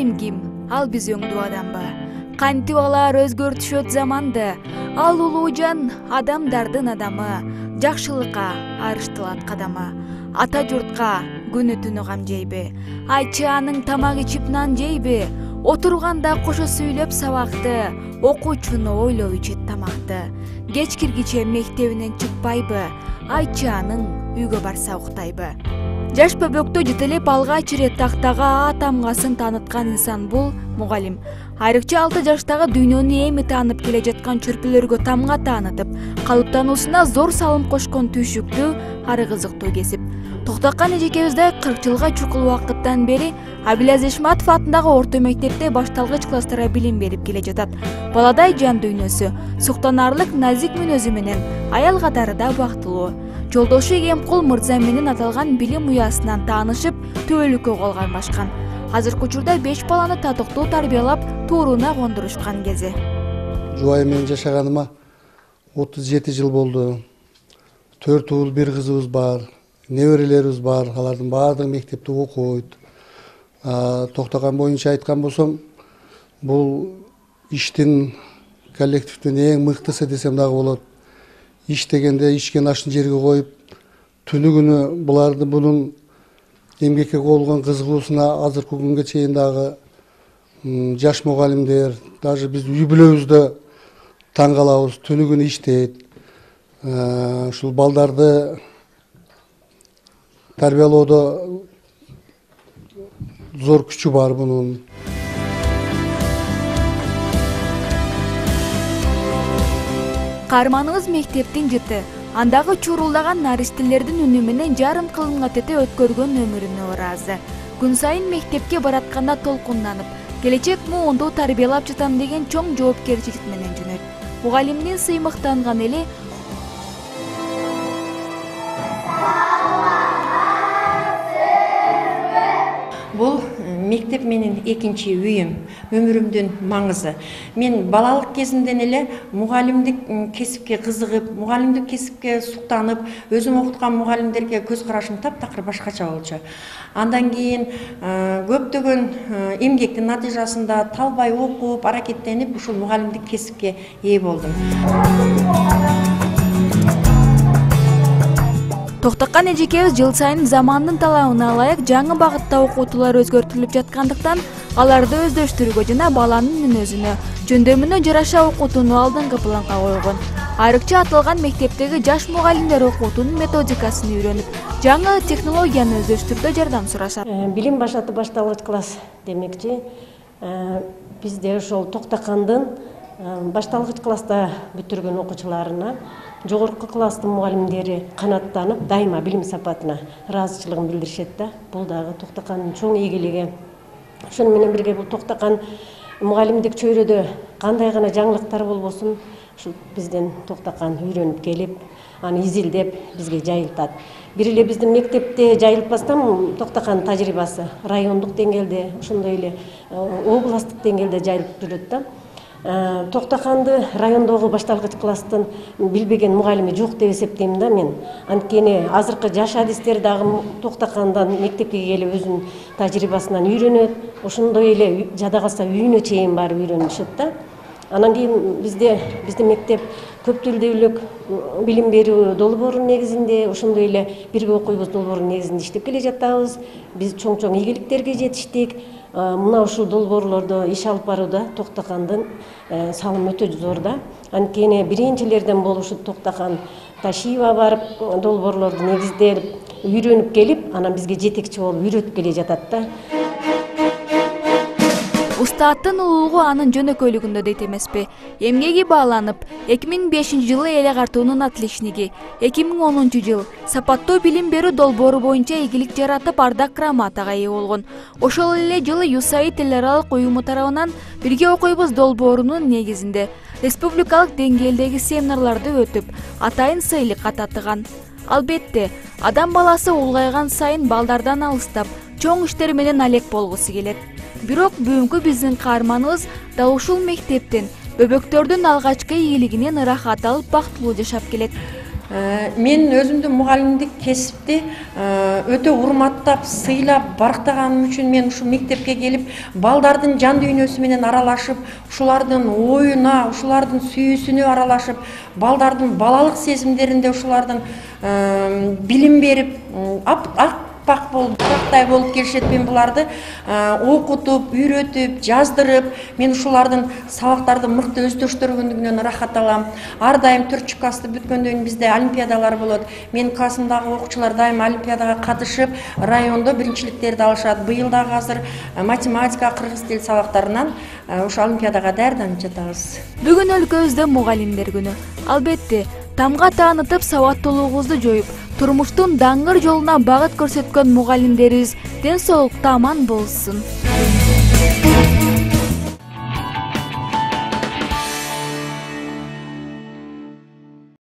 Мугалим ким? Ал биз өңдүү адамбы? Кантип алар өзгөртүшөт заманды? Ал улуу жан адамдардын адамы, жакшылыкка арыштылат кадамы. Ата журтка күнү түнү кам жейби? Айтчы анын тамак ичип нан жейби? Отурганда кошо сүйлөп сабакты, окуучуну ойлоп ичет тамакты. Кеч киргиче мектебинен чыкпайбы? Айтчы анын үйгө барса уктайбы? Жаш бөбөктө жетелеп алгач ирет тактага А тамгасын тааныткан инсан бул мугалим. Айрыкча 6 жаштагы дүйнөнү эми таанып келе жаткан чөрпүлөргө тамга таанытып, калыптануусуна зор салым кошкон түйшүктүү, ары кызыктуу кесип. Токтакан эжекебизде 40 жылга чукул убакыттан бери Абилаз Ишматов атындагы орто мектепте башталгыч класстарга билим берип келе жатат. Баладай жан дүйнөсү, суктанарлык назик мүнөзү менен аял катарында бактылуу. Жолдошу Эмкул мырза менен аталган билим уясынан таанышып, төбөлүккө колганбашкан. Азыркы учурда 5 баланы татыктуу тарбиялап, тууруна кондурушкан кези. Жубайым менен жашаганыма 37 жыл болду. 4 уул, 1 кызыбыз бар. Неберелерибиз бар. Алардын баардыгы мектепте окуйт. Токтакан боюнча айткан болсом, бул иштин коллективдин эң мыктысы десем дагы болот. Иш дегенде ичкен ашын жерге коюп, түнү күнү бунун эмгекке болгон кызыгуусуна азыркы күнгө чейин дагы жаш мугалимдер, даже биз үй бүлөбүздө таң калабыз, түнү күнү иштейт. Ушул балдарды тарбиялоодо зор күчү бар бунун. Каарманыбыз мектептин жыты, андагы чурулдаган наристелердин үнү менен жарым кылымга тете өткөргөн өмүрүнө ыраазы. Күн сайын мектепке баратканда толкунданып, келечек муунду тарбиялап жатам деген чоң жоопкерчилик менен жөнөйт. Мугалимдин сыймыктанган эли бул мектеп менен экинчи үйүм, өмүрүмдүн маңызы. Мен балалык кезимден эле мугалимдик кесипке кызыгып, мугалимдик кесипке суктанып, өзүм окуткан мугалимдерге көз карашым таптакыр башкача болчу. Андан кийин көптөгөн эмгектин натыйжасында талбай окуп, аракеттенип, ушул мугалимдик кесипке ээ болдум. Токтакан эжекебиз жыл сайын замандын талабына ылайык жаңы багытта окутуулар өзгөртүлүп жаткандыктан, аларды өздөштүрүүгө жана баланын мүнөзүнө, жөндөмүнө жараша окутууну алдыңкы планга койгон. Айрыкча аталган мектептеги жаш мугалимдер окутуунун методикасын үйрөнүп, жаңы технологияны өздөштүрүүдө жардам сурашат. Билим башаты башталгыч класс демекчи, бизде ошол Токтакандын башталгыч класста бүтүргөн окуучуларына жогорку класстын мугалимдери канаттанып, дайыма билим сапатына ыраазычылыгын билдиришет да. Бул дагы Токтакандын чоң ийгилиги. Ошону менен бирге бул Токтакан мугалимдик чөйрөдө кандай гана жаңылыктар болбосун, ушу бизден Токтакан үйрөнүп келип, аны изилдеп бизге жайылтат. Бир эле биздин мектепте жайылтпастан Токтакан тажрыйбасы райондук деңгээлде, ошондой эле областтык деңгээлде жайылып жүрөт да. Токтаканды райондогу башталгыч класстын билбеген мугалими жок деп эсептейм да мен. Анткени азыркы жаш адистер дагы Токтакандан мектепке келип өзүнүн тажрыйбасынан үйрөнөт. Ошондой эле жада калса үйүнө чейин барып үйрөнүшөт да. Анан кийин биздин мектеп көп тилдүүлүк билим берүү долбоорунун негизинде, ошондой эле бирге окуйбуз долбоорунун негизинде иштеп келе жатабыз. Биз чоң ийгиликтерге жетиштик. Мына ушул долбоорлордо иш алып барууда Токтакандын салымы өтө зор да. Анткени биринчилерден болушут Токтакан Ташиева барып долбоорлорду негиздеп, үйрөнүп келип, анан бизге жетекчи болуп үйрөтүп келе жатат да. Устаттын улуулугу анын жөнөкөйлүгүндө дейт эмеспи. Эмгеги бааланып, 2005 жылы эле картуунун отличниги, 2010 жыл сапаттуу билим берүү долбоору боюнча ийгилик жаратып ардак грамотага ээ болгон. Ошол эле жылы USAID эл аралык уюму тарабынан бирге окуйбуз долбоорунун негизинде республикалык деңгээлдеги семинарларды өтүп, атайын сыйлыкка татыган. Албетте, адам баласы улгайган сайын балдардан алыстап, чоң иштер менен алек болгусу келет. Бирок бүгүнкү биздин каарманыбыз дал ушул мектептен, бөбөктөрдүн алгачкы ийгилигинен ырахат алып бактылуу жашап келет. Мен өзүмдүн мугалимдик кесипти өтө урматтап, сыйлап, барктаганым үчүн мен ушул мектепке келип, балдардын жан дүйнөсү менен аралашып, ушулардын оюна, ушулардын сүйүүсүнө аралашып, балдардын балалык сезимдеринде ушулардын билим берип, аппак болуп, бурактай болуп келишет. Мен буларды окутуп, үйрөтүп, жаздырып, мен ушулардын сабактарды мыкты өздөштүргөндүгүнөн ырахат алам. Ар дайым 4 классты бүткөндөн кийин бизде олимпиадалар болот. Менин классымдагы окуучулар дайым олимпиадага катышып, райондо биринчиликтерди алышат. Быйыл дагы азыр математика, кыргыз тил сабактарынан ошо олимпиадага даярданып жатабыз. Бүгүн өлкөбүздө мугалимдер күнү. Албетте, тамга таанытып, сабаттуулугубузду жоюп, турмуштун даңгыр жолуна багыт көрсөткөн мугалимдерибиз ден соолукта аман болсун.